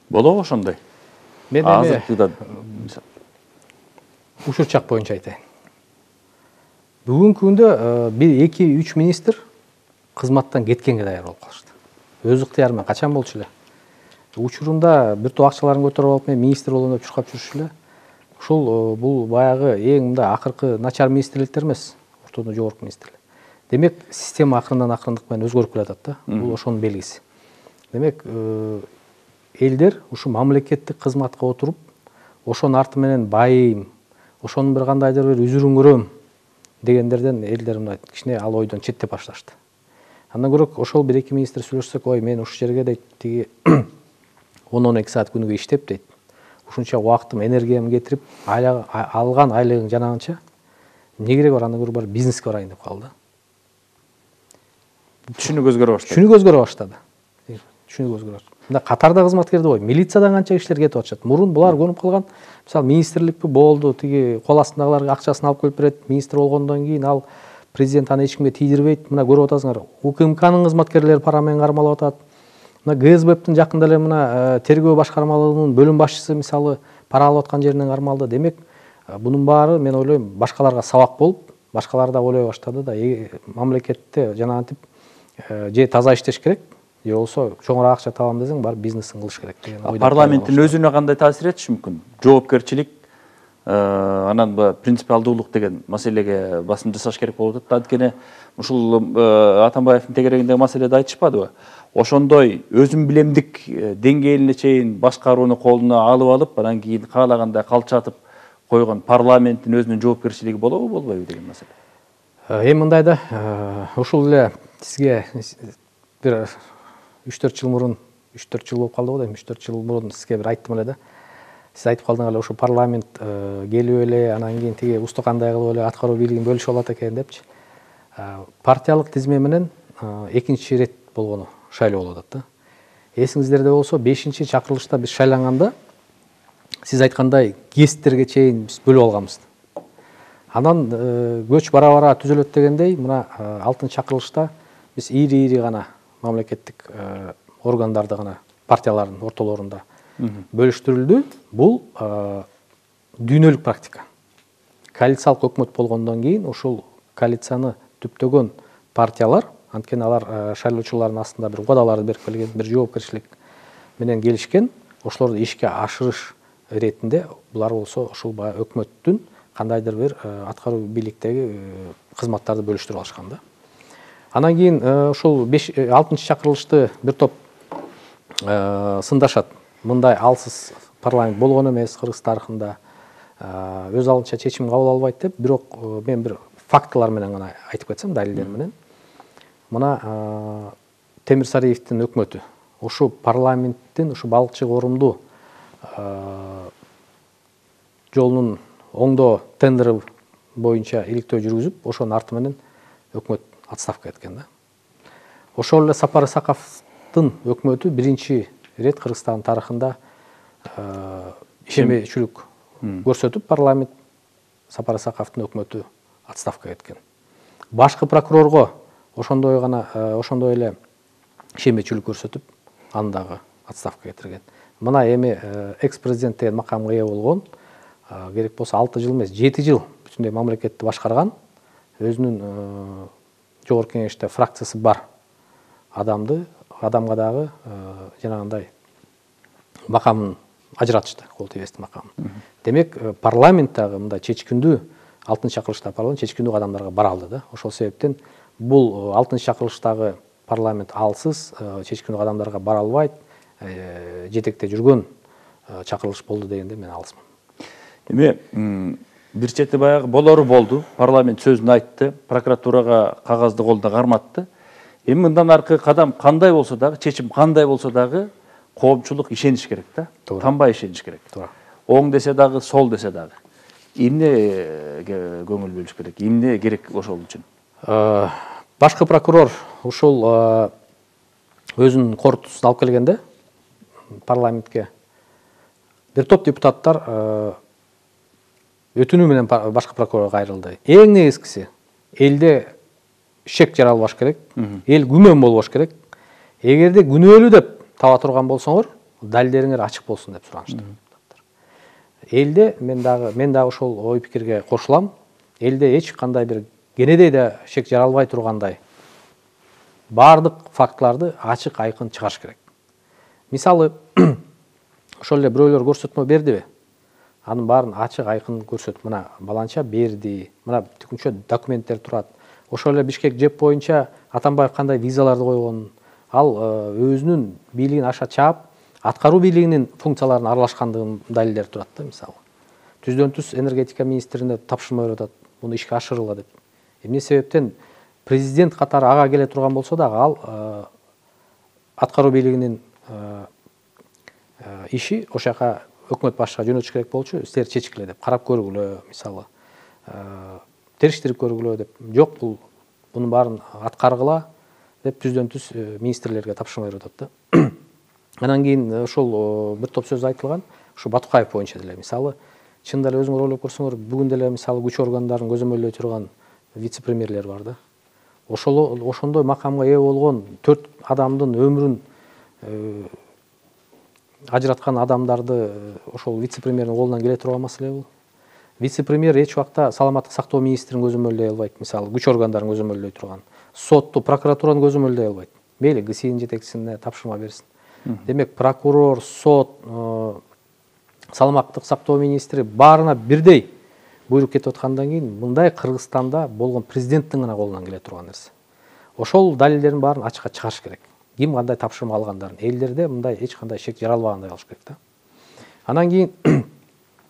Болобу ошондой? Мен азыркыда ушул чак боюнча айтайын. Бүгүнкү күндө бир эки үч министр кызматтан кеткенге даяр болуп калышты. Өз ыктыяры менен качан болчу эле. учурунда бир топ акчаларын көтөрүп алып мен министр болом деп чуркап жүрүшү эле. Ушул бул баягы эң мындай акыркы начар министрликтер эмес, ортодон жогорку министрлик. Демек система акырындан акырындык менен өзгөрүп келатат да. Бул ошонун белгиси. Демек элдер ушу мамлекеттик кызматка отуруп, ошонун арты менен байыйм, ошонун бир кандайдыр бир үзүрүн көрөм дегендерден элдер мындай кичине ал ойдон четтеп башташты. Андан көрө ошол бир эки министр сүйлөшсөк, ой мен ушул жерге дейт тиги он он эки саат күнүгө иштеп дейт. Ушунча убактым, энергиямды кетирип, алган айлыгың жанагынча эмне кереги бар, анда көрө бар бизнеске барайын деп калды. Түшүнүк өзгөрө баштады. Түшүнүк өзгөрө баштады. Түшүнүк өзгөрө баштады. Мында катарда кызматкерди бой, милициядан канча кишилер кетип атышат. Мурун булар көнүп калган, мисалы министрликпи болду, тиги кол астындагыларга акчасын алып келип берет, министр болгондон кийин ал президент аны эч кимге тийдирбейт. Мына көрүп атасыңар, УКМКнын кызматкерлери пара менен кармалып атат. Мына ГСБптин жакында эле мына тергөө башкармалыгынын бөлүм башчысы мисалы пара алып аткан жеринен кармалды. Демек, бунун баары мен ойлойм башкаларга сабак болуп, башкалар да ойлой баштады да, мамлекетте жанагынтип же таза иштеш керек, же болбосо чоңураак акча табам десең, бар бизнесин кылыш керек деген ойдон. Парламенттин өзүнө кандай таасир этиши мүмкүн? Жоопкерчилик, анан принципиалдуулук деген маселеге басым жасаш керек болуп атат. Анткени ушул Атамбаевдин тегерегиндеги маселеде айтышпадыбы? Ошондой өзүн билемдик деңгээлине чейин башкарууну колуна алып алып, анан кийин каалагандай калчатып койгон парламенттин өзүнүн жоопкерчилиги болобу, болбойбу деген маселе. Эми мындай да, ушул эле сизге бир үч төрт жыл мурун, үч төрт жыл болуп калды го дейм, үч төрт жыл мурун сизге бир айттым эле да. Сиз айтып калдыңар эле, ушу парламент келип эле, анан кийин тиги устукандай кылып эле аткаруу бийлигин бөлүшүп алат экен депчи. Партиялык тизме менен экинчи ирет болгону шайлоо болуп атат да. Эсиңиздерде болсо бешинчи чакырылышта биз шайланганда сиз айткандай гесттерге чейин биз бөлүп алганбыз. Анан көч бара-бара түзөлөт дегендей, мына алтынчы чакырылышта биз ири-ири гана мамлекеттик органдарды гана партиялардын ортолорунда бөлүштүрүлдү. Бул дүйнөлүк практика. Коалициялык өкмөт болгондон кийин ушул коалицияны түптөгөн партиялар, анткени алар шайлоочулардын астында бир убадаларды берип келген, бир жоопкерчилик менен келишкен, ошолорду ишке ашырыш иретинде булар болсо ушул баягы өкмөттүн кандайдыр бир аткаруу бийликтеги кызматтарды бөлүштүрүп алышкан да. Анан кийин ушул алтынчы чакырылышты бир топ сындашат. Мындай алсыз парламент болгон эмес Кыргыз тарыхында, өз алдынча чечим кабыл албайт деп, бирок мен бир фактылар менен гана айтып кетсем, далилдер менен. Мына Темир Сариевдин өкмөтү ушу парламенттин ушу балыкчы корумду жолунун оңдоо тендери боюнча иликтөө жүргүзүп, ошонун арты менен өкмөт отставка кеткен да. Ошол эле Сапар Исаковдун өкмөтү биринчи рет Кыргызстан тарыхында ишенбейчүлүк көрсөтүп, парламент Сапар Исаковдун өкмөтү отставка кеткен. Башкы прокурорго ошондой гана ошондой эле ишенбейчүлүк көрсөтүп, аны дагы отставка кетирген. Мына эми экс-президент деген макамга ээ болгон, керек болсо алты жыл эмес, жети жыл бүтүндөй мамлекетти башкарган, өзүнүн жогорку кеңеште фракциясы бар адамды, адамга дагы жанагындай макамын ажыратышты, кол тийбестик макамын. Демек, парламент дагы мындай чечкиндүү, алтынчы чакырылышта парламент чечкиндүү кадамдарга бара алды да. Ошол себептен бул алтынчы чакырылыштагы парламент алсыз, чечкиндүү кадамдарга бара албайт, жетекте жүргөн чакырылыш болду дегенде мен алысмын. Эми бир чети баягы болору болду, парламент сөзүн айтты, прокуратурага кагазды колдо карматты. Эми мындан аркы кадам кандай болсо дагы, чечим кандай болсо дагы коомчулук ишениш керек да. Танбай ишениш керек. Оң десе дагы, сол десе дагы. Эмнеге көңүл бөлүш керек? Эмне керек ошол үчүн? Башкы прокурор ушул өзүнүн корутуусун алып келгенде парламентке бир топ депутаттар өтүнүү менен башкы прокурорго кайрылды. Эң негизгиси, элде шек жаралбаш керек, эл күмөн болбош керек. Эгерде күнөөлүү деп таба турган болсоңор, далилдериңер ачык болсун деп суранышты. Элде мен дагы мен дагы ошол ой пикирге кошулам. Элде эч кандай бир кенедей да шек жаралбай тургандай баардык фактыларды ачык айкын чыгарыш керек. Мисалы, ошол эле бирөөлөр көрсөтмө бердиби? Анын баарын ачык айкын көрсөтүп, мына баланча берди, мына тикүнчө документтер турат. Ошол эле Бишкек ЖЭП боюнча Атамбаев кандай визаларды койгонун, ал өзүнүн бийлигин аша чаап, аткаруу бийлигинин функцияларына аралашкандыгынын далилдери турат да, мисалы. Түздөн түз энергетика министрине тапшырма берип атат, муну ишке ашыргыла деп. Эмне себептен президент катары ага келе турган болсо дагы ал аткаруу бийлигинин иши ошол жака өкмөт башчыга жөнөтүш керек болчу, силер чечкиле деп, карап көргүлө, мисалы, териштирип көргүлө деп. Жок, бул бунун баарын аткаргыла деп түздөн түз министрлерге тапшырма берип атат да. Анан кийин ошол бир топ сөз айтылган, ушу Батукаев боюнча деле, мисалы, чынында эле өзүңөр ойлоп көрсөңөр, бүгүн деле мисалы күч органдарын көзөмөлдөй турган вице-премьерлер бар да. Ошол ошондой макамга ээ болгон төрт адамдын өмүрүн ажыраткан адамдарды ошол вице-премьердин колунан келе турган маселе бул. Вице-премьер эч убакта саламаттык сактоо министрин көзөмөлдөй албайт, мисалы, күч органдарын көзөмөлдөй турган, сотту, прокуратураны көзөмөлдөй албайт. Мейли ГСИнин жетекчисине тапшырма берсин. Демек, прокурор, сот, саламаттык сактоо министри баарына бирдей буйрук кетип аткандан кийин мындай Кыргызстанда болгон президенттин гана колунан келе турган нерсе. Ошол далилдердин баарын ачыкка чыгарыш керек. Ким кандай тапшырма алгандарын, элдерде мындай эч кандай шек жаралбагандай кылыш керек да. Анан кийин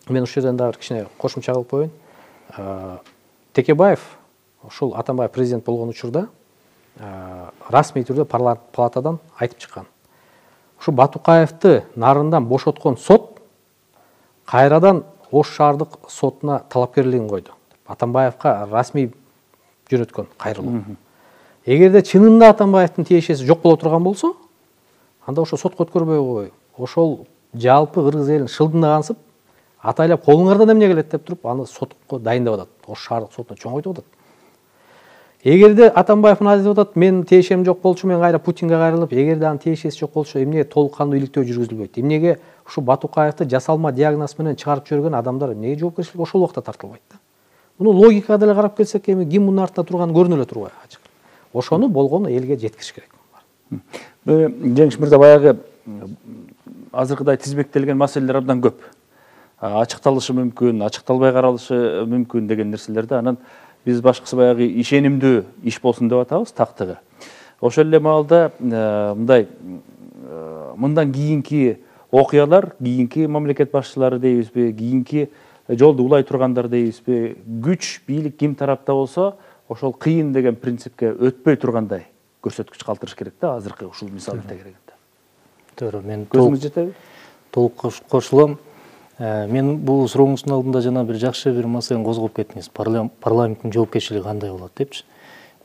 мен ушул жерден дагы кичине кошумча кылып коеюн. Текебаев ошол Атамбаев президент болгон учурда расмий түрдө парламент палатадан айтып чыккан. Ушу Батукаевди нарындан бошоткон сот кайрадан Ош шаардык сотуна талапкерлигин койду. Атамбаевка расмий жөнөткөн кайрылуу. Эгерде чынында Атамбаевдин тиешеси жок боло турган болсо, анда ошо сотко өткөрбөй койгой. Ошол жалпы кыргыз элин шылдыңда кансып, атайлап колуңардан эмне келет деп туруп, аны сотко дайындап атат. Ош шаардык сотуна чоңойтуп атат. Эгерде Атамбаев мына деп атат, мен тиешем жок болчу, мен кайра Путинге кайрылып, эгерде анын тиешеси жок болчу, эмнеге толук кандуу иликтөө жүргүзүлбөйт? Эмнеге ушу Батукаевди жасалма диагноз менен чыгарып жиберген адамдар эмнеге жоопкерчиликке ошол убакта тартылбайт да? Муну логикага деле карап келсек, эми ким мунун артында турганы көрүнө эле турбайбы ачык. Ошону болгону элге жеткириш керек. Жеңиш мырза, баягы азыркыдай тизбектелген маселелер абдан көп. Ачыкталышы мүмкүн, ачыкталбай каралышы мүмкүн деген нерселерди. Анан биз башкысы баягы ишенимдүү иш болсун деп атабыз, тактыгы. Ошол эле маалда мындай мындан кийинки окуялар, кийинки мамлекет башчылары дейбизби, кийинки жолду улай тургандар дейбизби, күч, бийлик ким тарапта болсо, ошол кыйын деген принципке өтпөй тургандай көрсөткүч калтырыш керек да, азыркы ушул мисалды тегерегенде. Туура, мен көзүңүз жетеби? Толук кошулам. Мен бул сурооңуздун алдында жана бир жакшы бир маселени козгоп кеттиңиз. Парламенттин жоопкерчилиги кандай болот депчи.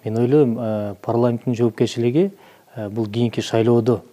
Мен ойлойм, парламенттин жоопкерчилиги бул кийинки шайлоодо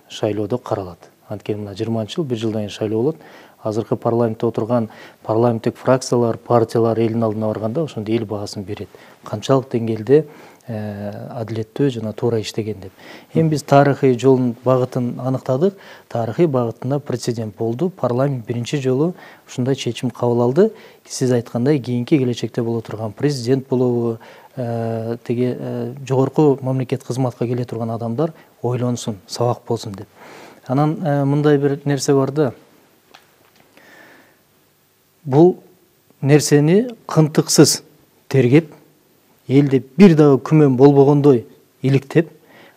шайлоодо каралат. Анткени мына жыйырманчы жыл, бир жылдан кийин шайлоо болот. Азыркы парламентте отурган парламенттик фракциялар, партиялар элдин алдына барганда ошондо эл баасын берет. Канчалык деңгээлде адилеттүү жана туура иштеген деп. Эми биз тарыхый жолдун багытын аныктадык. Тарыхый багытында прецедент болду. Парламент биринчи жолу ушундай чечим кабыл алды. Сиз айткандай, кийинки келечекте боло турган президент болобу, теги жогорку мамлекет кызматка келе турган адамдар ойлонсун, сабак болсун деп. Анан мындай бир нерсе бар да. Бул нерсени кынтыксыз тергеп, элде бир дагы күмөн болбогондой иликтеп,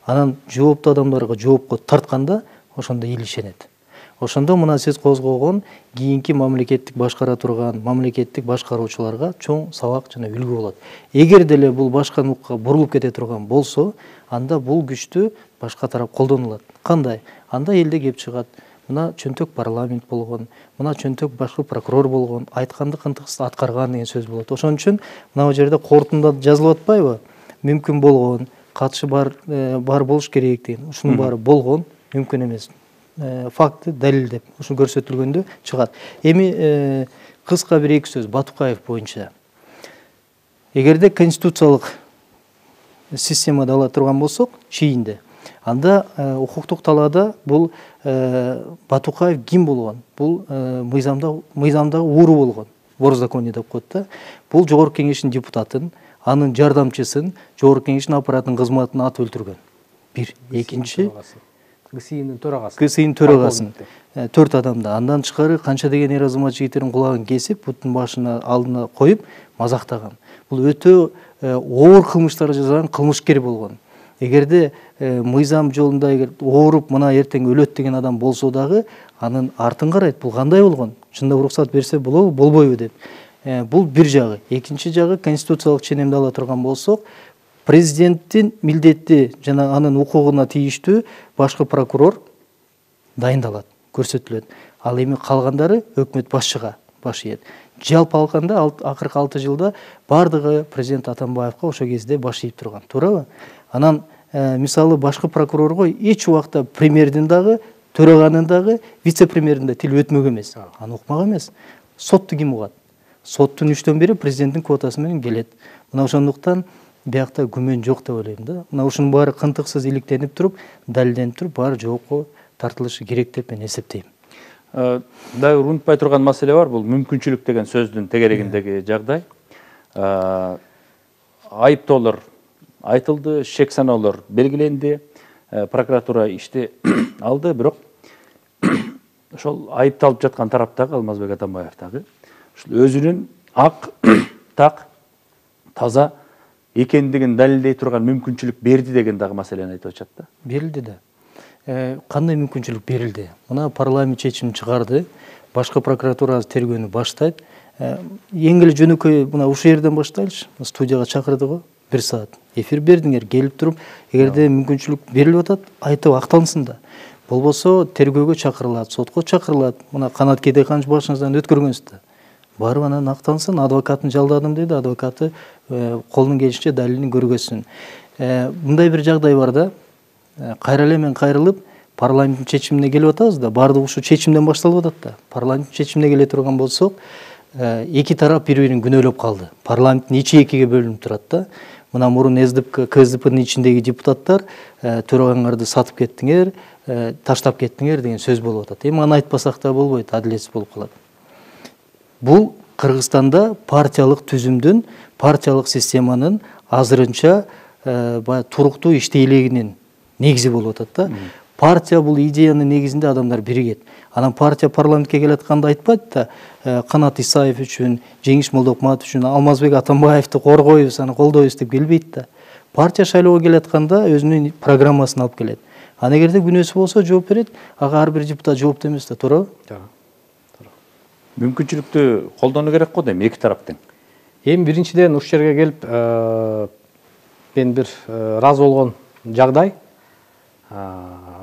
анан жооптуу адамдарга жоопко тартканда, ошондо эл ишенет. Ошондо мына сиз козгогон кийинки мамлекеттик башкара турган мамлекеттик башкаруучуларга чоң сабак жана үлгү болот. Эгер деле бул башка нукка бурулуп кете турган болсо, анда бул күчтү башка тарап колдонулат. Кандай? Анда элде кеп чыгат. Мына чөнтөк парламент болгон, мына чөнтөк башкы прокурор болгон, айтканды кынтыксыз аткарган деген сөз болот. Ошон үчүн мына жерде кортунда жазылып атпайбы? Мүмкүн болгон, катышы бар бар болуш керек деген. Ушунун баары болгон, мүмкүн эмес. Факты далил деп ушун көрсөтүлгөндө чыгат. Эми кыска бир эки сөз Батукаев боюнча. Эгерде конституциялык системада ала турган болсок, чийинде, анда укуктук талаада бул Батукаев ким болгон? Бул мыйзамда мыйзамдагы ууру болгон. Борзаконие деп коет да. Бул жогорку кеңештин депутатын, анын жардамчысын, жогорку кеңештин аппаратынын кызматына атып өлтүргөн. Бир, экинчи КСИМдин төрагасы. КСИМдин төрагасын төрт адамды. Андан тышкары канча деген эр азамат жигиттердин кулагын кесип, бутун башына алдына коюп мазактаган. Бул өтө оор кылмыштар жасаган кылмышкер болгон. Эгерде мыйзам жолунда эгер ооруп мына эртең өлөт деген адам болсо дагы анын артын карайт. Бул кандай болгон? Чындап уруксат берсе болобу, болбойбу деп. Бул бир жагы. Экинчи жагы конституциялык ченемди ала турган болсок, президенттин милдети жана анын укугуна тийиштүү башкы прокурор дайындалат, көрсөтүлөт. Ал эми калгандары өкмөт башчыга баш ийет. Жалпы алганда акыркы алты жылда бардыгы президент Атамбаевка ошо кезде баш ийип турган. Туурабы? Анан мисалы башкы прокурорго эч убакта премьердин дагы, төраганын дагы, вице-премьердин да тил өтмөк эмес. Аны укмак эмес. Сотту ким угат? Соттун үчтөн бири президенттин квотасы менен келет. Мына ошондуктан биякта күмөн жок деп ойлойм да. Мына ушунун баары кынтыксыз иликтенип туруп, далилденип туруп, баары жоопко тартылышы керек деп мен эсептейм. Дагы унутпай турган маселе бар, бул мүмкүнчүлүк деген сөздүн тегерегиндеги жагдай. Айыптоолор айтылды, шек саноолор белгиленди, прокуратура ишти алды, бирок ошол айыпталып жаткан тараптагы Алмазбек Атамбаев дагы ушул өзүнүн ак, так, таза экендигин далилдей турган мүмкүнчүлүк берди деген дагы маселени айтып атышат да. Берилди да. Кандай мүмкүнчүлүк берилди? Мына парламент чечим чыгарды, башкы прокуратура тергөөнү баштайт. Эң эле жөнөкөй мына ушул жерден баштайлычы. Студияга чакырды го, бир саат эфир бердиңер, келип туруп, эгерде мүмкүнчүлүк берилип атат, айтып акталынсын да. Болбосо тергөөгө чакырылат, сотко чакырылат. Мына Канат Кедейканович башыңыздан өткөргөнсүз да. Барып анан акталынсын, адвокатын жалдадым дейди, адвокаты колунун келишинче далилин көргөзсүн. Мындай бир жагдай бар да. Кайра эле мен кайрылып, парламенттин чечимине келип атабыз да, баардыгы ушу чечимден башталып атат да. Парламенттин чечимине келе турган болсок, эки тарап бири-бирин күнөөлөп калды. Парламенттин ичи экиге бөлүнүп турат да. Мына мурун КСДПнын ичиндеги депутаттар төрагаңарды сатып кеттиңер, таштап кеттиңер деген сөз болуп атат. Эми аны айтпасак да болбойт, адилетсиз болуп калат. Бул Кыргызстанда партиялык түзүмдүн, партиялык системанын азырынча туруктуу иштей элегинин негизи болуп атат да. Партия бул идеянын негизинде адамдар биригет. Анан партия парламентке келатканда айтпайт да, Канат Исаев үчүн, Жеңиш Молдокматов үчүн, Алмазбек Атамбаевди коргойбуз, аны колдойбуз деп келбейт да. Партия шайлоого келатканда өзүнүн программасын алып келет. Аны эгерде күнөөсү болсо жооп берет, ага ар бир депутат жооптуу эмес да, туурабы? Туура. Мүмкүнчүлүктү колдонуу керек го дейм, эки тараптын. Эми биринчиден ушул жерге келип, мен бир ыраазы болгон жагдай.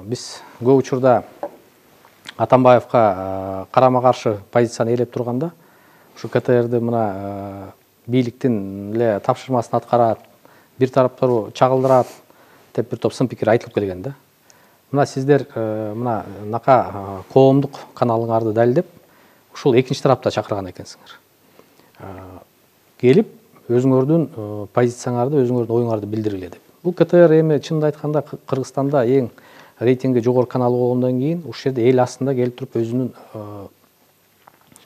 Биз көп учурда Атамбаевка карама каршы позицияны ээлеп турганда, ушу КТРди мына бийликтин эле тапшырмасын аткарат, бир тараптуу чагылдырат деп бир топ сын пикир айтылып келген да. Мына сиздер мына нака коомдук каналыңарды далилдеп, ушул экинчи тарапта чакырган экенсиңер. Келип, өзүңөрдүн позицияңарды, өзүңөрдүн оюңарды билдиргиле деп. Бул КТР эми чынын айтканда Кыргызстанда эң рейтинги жогорку канал болгондон кийин ушул жерде эл астында келип туруп өзүнүн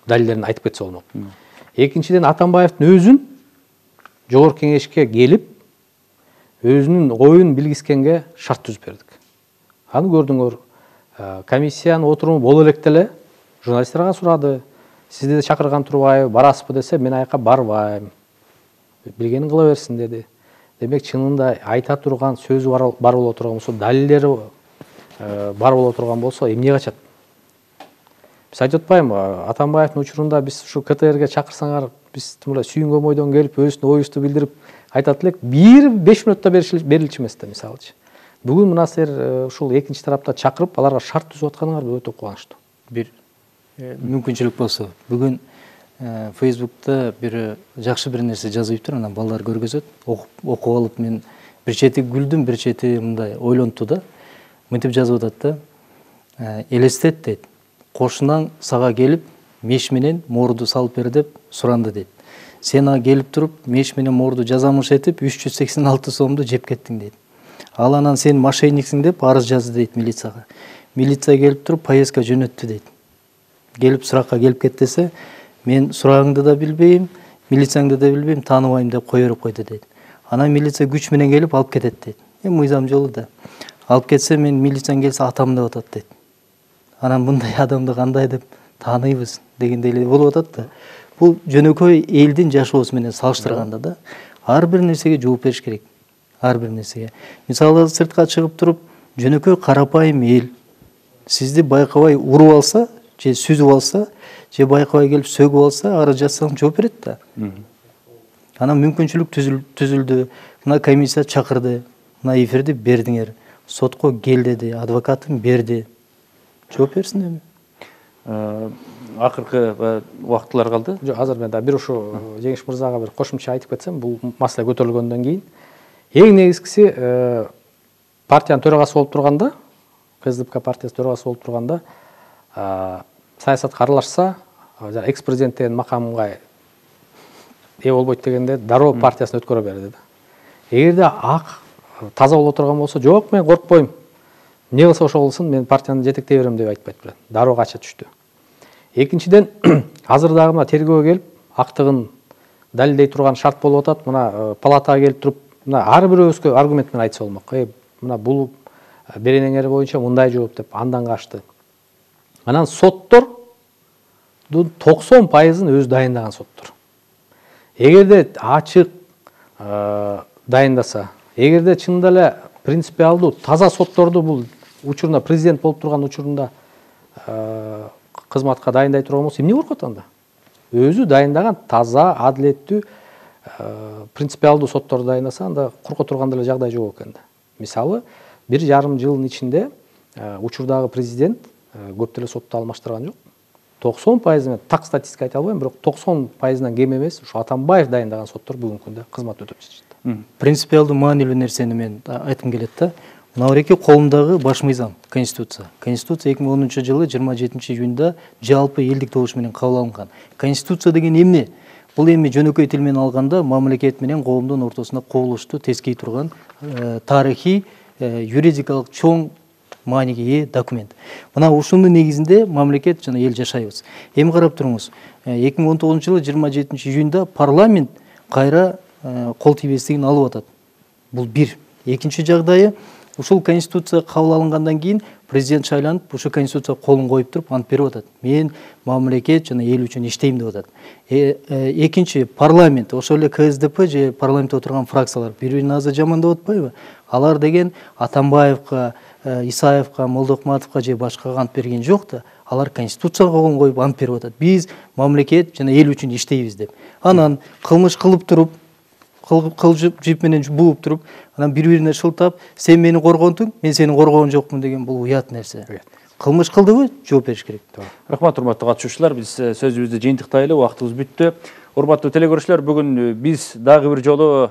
далилдерин айтып кетсе болмок. Экинчиден Атамбаевдин өзүн жогорку кеңешке келип өзүнүн оюн билгискенге шарт түзүп бердик. Аны көрдүңөр, комиссиянын отуруму боло электе эле журналисттерге сурады. Сизди да чакырган турбайбы, барасызбы десе, мен аяка барбайм. Билгенин кыла берсин деди. Демек чынында айта турган сөзү бар боло турган болсо, далилдери бар боло турган болсо, эмне качат? Биз айтып атпаймынбы, Атамбаевдин учурунда биз ушу КТРге чакырсаңар, биз мындай сүйүнгөн бойдон келип, өзүнүн оюбузду билдирип айтат элек, бир беш минутта берилчү эмес да, мисалычы. Бүгүн мына силер ушул экинчи тарапта чакырып, аларга шарт түзүп атканыңар өтө кубанычтуу. Бир мүмкүнчүлүк болсо, бүгүн Фейсбукта бир жакшы бир нерсе жазып, анан балдар көргөзөт, окуп алып мен бир чети күлдүм, бир чети мындай ойлонту да. Мынтип жазып атат да. Элестет дейт. Кошунаң сага келип, меш менен моорду салып бер деп суранды дейт. Сен ага келип туруп, меш менен моорду жазамыш этип үч жүз сексен алты сомду жеп кеттиң дейт. Ал анан сен мошенниксиң деп арыз жазды дейт милицияга. Милиция келип туруп, поездка жөнөттү дейт. Келип суракка келип кет десе, мен сурагыңды да билбейм, милицияңды да билбейм, тааныбайм деп кое берип койду дейт. Анан милиция күч менен келип алып кетет дейт. Эми мыйзам жолу да. алып кетсе, мен милициян келсе атам деп атат дейт. Анан мындай адамды кандай деп тааныйбыз дегендей эле болуп атат да. Бул жөнөкөй элдин жашоосу менен салыштырганда да ар бир нерсеге жооп бериш керек. Ар бир нерсеге. Мисалы сыртка чыгып туруп, жөнөкөй карапайым эл сизди байкабай уруп алса, же сүзүп алса, же байкабай келип сөгүп алса, арыз жазсаң жооп берет да. Анан мүмкүнчүлүк түзүлдү. Мына комиссия чакырды. Мына эфирди бердиңер. Сотко кел деди, адвокатын берди. Жооп берсин эми. Акыркы убактылар калды. Жок, азыр мен да бир ушу Жеңиш мырзага бир кошумча айтып кетсем, бул маселе көтөрүлгөндөн кийин эң негизгиси партиянын төрагасы болуп турганда, КСДП партиясы төрагасы болуп турганда, саясатка аралашса, экс-президент деген макамга ээ болбойт дегенде дароо партиясын өткөрө берди да. Эгерде ак таза боло турган болсо, жок мен коркпойм. Не кылса ошо кылсын, мен партияны жетектей берем деп айтпайт бирок. Дароо кача түштү. Экинчиден, азыр дагы мына тергөөгө келип, актыгын далилдей турган шарт болуп атат. Мына палатага келип туруп, мына ар бирөөбүзгө аргумент менен айтса болмок. Э, мына бул беренеңер боюнча мындай жооп деп андан качты. Анан соттордун токсон пайызын өзү дайындаган соттор. Эгерде ачык дайындаса, эгерде чынында эле принципиалдуу таза сотторду бул учурунда президент болуп турган учурунда кызматка дайындай турган болсо, эмне коркот анда? Өзү дайындаган таза, адилеттүү, принципиалдуу сотторду дайындаса, анда корко турган деле жагдай жок экен да. Мисалы, бир жарым жылдын ичинде учурдагы президент көп деле сотто алмаштырган жок. токсон пайыз мен так статистика айта албайм, бирок токсон пайызынан кем эмес ушу Атамбаев дайындаган соттор бүгүнкү күндө кызмат өтөп жатышат. Принципиалдуу маанилүү нерсени мен айткым келет да. Мына эки колумдагы баш мыйзам Конституция. Конституция эки миң онунчу жылы жыйырма жетинчи июнда жалпы элдик добуш менен кабыл алынган. Конституция деген эмне? Бул эми жөнөкөй тил менен алганда мамлекет менен коомдун ортосунда кубулушту тескей турган тарыхый, юридикалык чоң мааниге ээ документ. Мына ушунун негизинде мамлекет жана эл жашайбыз. Эми карап туруңуз. эки миң он тогузунчу жылы жыйырма жетинчи июнда парламент кайра кол тийбестигин алып атат. Бул бир. Экинчи жагдайы, ушул конституция кабыл алынгандан кийин президент шайланып, ушул конституция колун коюп туруп ант берип атат. Мен мамлекет жана эл үчүн иштейм деп атат. Экинчи парламент, ошол эле КСДП же парламентте отурган фракциялар бири-бирин азыр жамандап атпайбы? Алар деген Атамбаевка, Исаевка, Молдокматовка же башкага ант берген жок да. Алар конституцияга колун коюп ант берип атат. Биз мамлекет жана эл үчүн иштейбиз деп. Анан кылмыш кылып туруп, кылжып жип менен бууп туруп, анан бири-бирине шылтап, сен мени коргонтуң, мен сени коргон жокмун деген бул уят нерсе. Кылмыш кылдыбы, жооп бериш керек. Рахмат, урматтуу катышуучулар, биз сөзүбүздү жыйынтыктайлы, убактыбыз бүттү. Урматтуу телекөрүүчүлөр, бүгүн биз дагы бир жолу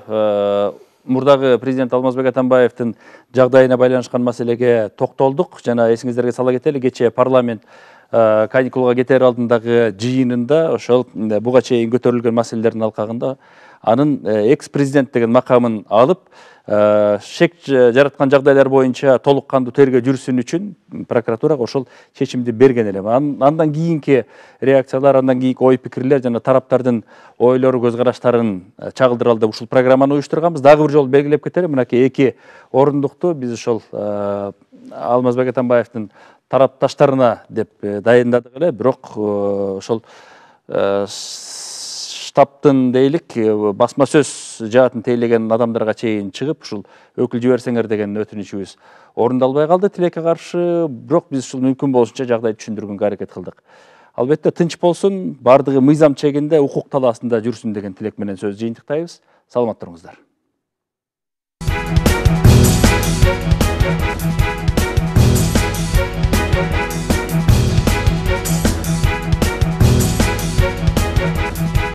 мурдагы президент Алмазбек Атамбаевдин жагдайына байланышкан маселеге токтолдук. Жана эсиңиздерге сала кетели, кечээ парламент каникулга кетер алдындагы жыйынында ошол буга чейин көтөрүлгөн маселелердин алкагында анын экс-президент деген макамын алып, шек жараткан жагдайлар боюнча толук кандуу тергөө жүрсүн үчүн прокуратурага ошол чечимди берген эле. Андан кийинки реакциялар, андан кийинки ой пикирлер жана тараптардын ойлору, көз караштарын чагылдыралы деп ушул программаны уюштурганбыз. Дагы бир жолу белгилеп кетели, мынакей эки орундукту биз ошол Алмазбек Атамбаевдин тарапташтарына деп дайындадык эле, бирок ошол штабтын дейлик басма сөз жаатын тейлеген адамдарга чейин чыгып ушул өкүл жиберсеңер деген өтүнүчүбүз орундалбай калды тилекке каршы, бирок биз ушул мүмкүн болушунча жагдайды түшүндүргөнгө аракет кылдык. Албетте тынч болсун, бардыгы мыйзам чегинде, укук талаасында жүрсүн деген тилек менен сөз жыйынтыктайбыз. Саламат туруңуздар.